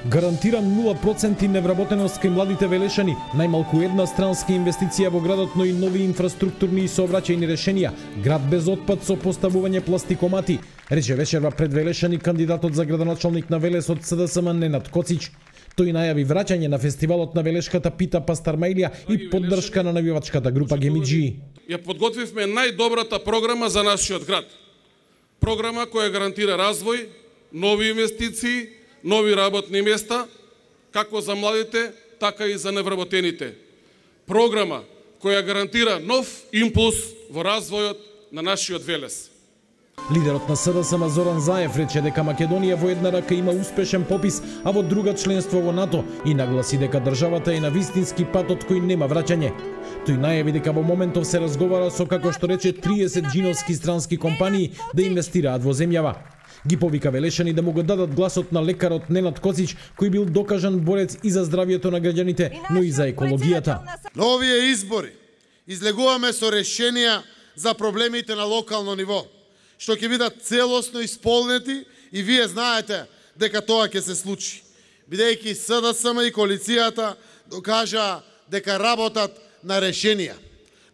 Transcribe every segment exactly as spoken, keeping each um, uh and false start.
Гарантира нула проценти невработеност кај младите велешани, најмалку една странска инвестиција во градот, но и нови инфраструктурни и сообраќајни решенија, град без отпад со поставување пластикомати, рече вечерва пред Велешани кандидатот за градоначалник на Велес од СДСМ Ненад Коцич. Тој најави враќање на фестивалот на велешката пита Пастармајлија и поддршка на навивачката група Гемиджи. Ја подготвивме најдобрата програма за нашиот град. Програма која гарантира развој, нови инвестиции, нови работни места, како за младите, така и за невработените. Програма која гарантира нов импулс во развојот на нашиот Велес. Лидерот на СДСМ Зоран Заев рече дека Македонија во една рака има успешен попис, а во друга членство во НАТО и нагласи дека државата е на вистински пат од кој нема враќање. Тој најави дека во моментов се разговара со, како што рече, триесет џиновски странски компании да инвестираат во земјава. Ги повика Велешани да му го дадат гласот на лекарот Ненад Коцич, кој бил докажан борец и за здравието на граѓаните, но и за екологијата. На овие избори излегуваме со решенија за проблемите на локално ниво, што ќе бидат целосно исполнети и вие знаете дека тоа ќе се случи, бидејќи СДСМ и коалицијата докажа дека работат на решенија,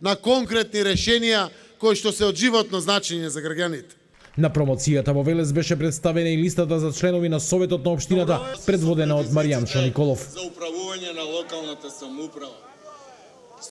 на конкретни решенија кои што се од животно значење за граѓаните. На промоцијата во Велес беше представена и листата за членови на Советот на општината, предводена од Маријанчо Николов. За управување на локалната самоуправа.